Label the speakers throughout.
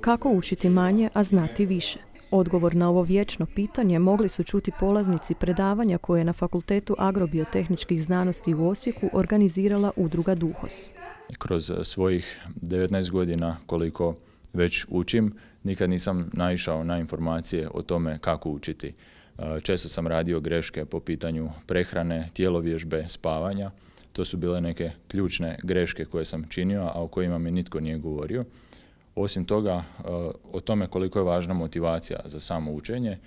Speaker 1: Kako učiti manje, a znati više? Odgovor na ovo vječno pitanje mogli su čuti polaznici predavanja koje je na Fakultetu agrobiotehničkih znanosti u Osijeku organizirala udruga Duhos.
Speaker 2: Kroz svojih 19 godina koliko već učim, nikad nisam naišao na informacije o tome kako učiti. Često sam radio greške po pitanju prehrane, tjelovježbe, spavanja. To su bile neke ključne greške koje sam činio, a o kojima mi nitko nije govorio. Osim toga, o tome koliko je važna motivacija za samo učenje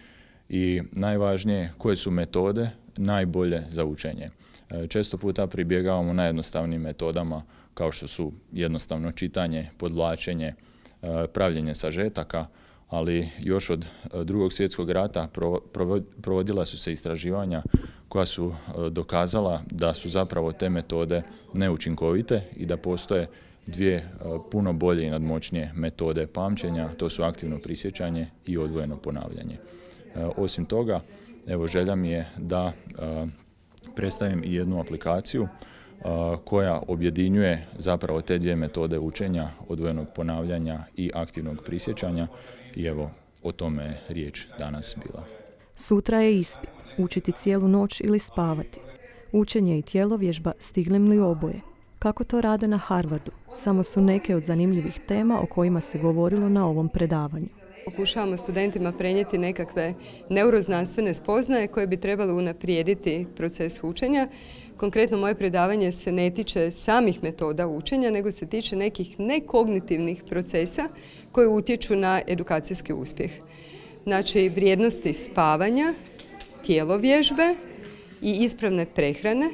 Speaker 2: i najvažnije koje su metode najbolje za učenje. Često puta pribjegavamo najjednostavnijim metodama kao što su jednostavno čitanje, podvlačenje, pravljenje sažetaka, ali još od II. Svjetskog rata provodila su se istraživanja koja su dokazala da su zapravo te metode neučinkovite i da postoje dvije puno bolje i nadmoćnije metode pamćenja, to su aktivno prisjećanje i odvojeno ponavljanje. Osim toga, evo želja mi je da predstavim i jednu aplikaciju koja objedinjuje zapravo te dvije metode učenja, odvojenog ponavljanja i aktivnog prisjećanja i evo o tome je riječ danas bila.
Speaker 1: Sutra je ispit, učiti cijelu noć ili spavati. Učenje i tjelovježba stiglim li oboje? Kako to rade na Harvardu? Samo su neke od zanimljivih tema o kojima se govorilo na ovom predavanju.
Speaker 3: Pokušavamo studentima prenijeti nekakve neuroznanstvene spoznaje koje bi trebale unaprijediti proces učenja. Konkretno moje predavanje se ne tiče samih metoda učenja, nego se tiče nekih nekognitivnih procesa koji utječu na edukacijski uspjeh. Znači, vrijednosti spavanja, tjelovježbe i ispravne prehrane,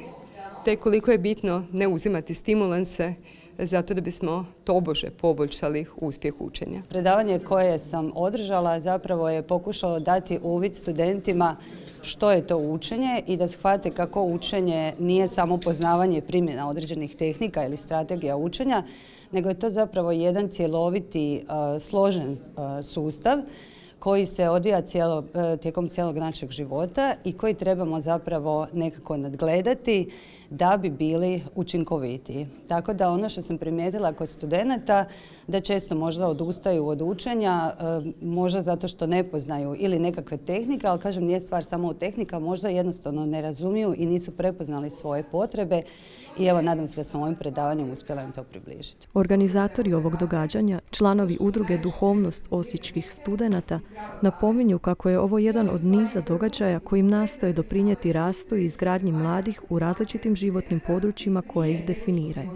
Speaker 3: te koliko je bitno ne uzimati stimulanse zato da bismo tobože poboljšali uspjeh učenja.
Speaker 4: Predavanje koje sam održala zapravo je pokušalo dati uvid studentima što je to učenje i da shvate kako učenje nije samo poznavanje primjena određenih tehnika ili strategija učenja, nego je to zapravo jedan cjeloviti, složen sustav koji se odvija tijekom cijelog našeg života i koji trebamo zapravo nekako nadgledati da bi bili učinkovitiji. Tako da ono što sam primijetila kod studenata, da često možda odustaju od učenja, možda zato što ne poznaju ili nekakve tehnike, ali kažem nije stvar samo u tehnika, možda jednostavno ne razumiju i nisu prepoznali svoje potrebe i evo nadam se da sam ovim predavanjem uspjela im to približiti.
Speaker 1: Organizatori ovog događanja, članovi udruge Duhovnost osječkih studenata, napominju kako je ovo jedan od niza događaja kojim nastoje doprinijeti rastu i izgradnji mladih u različitim životnim područjima koje ih definiraju.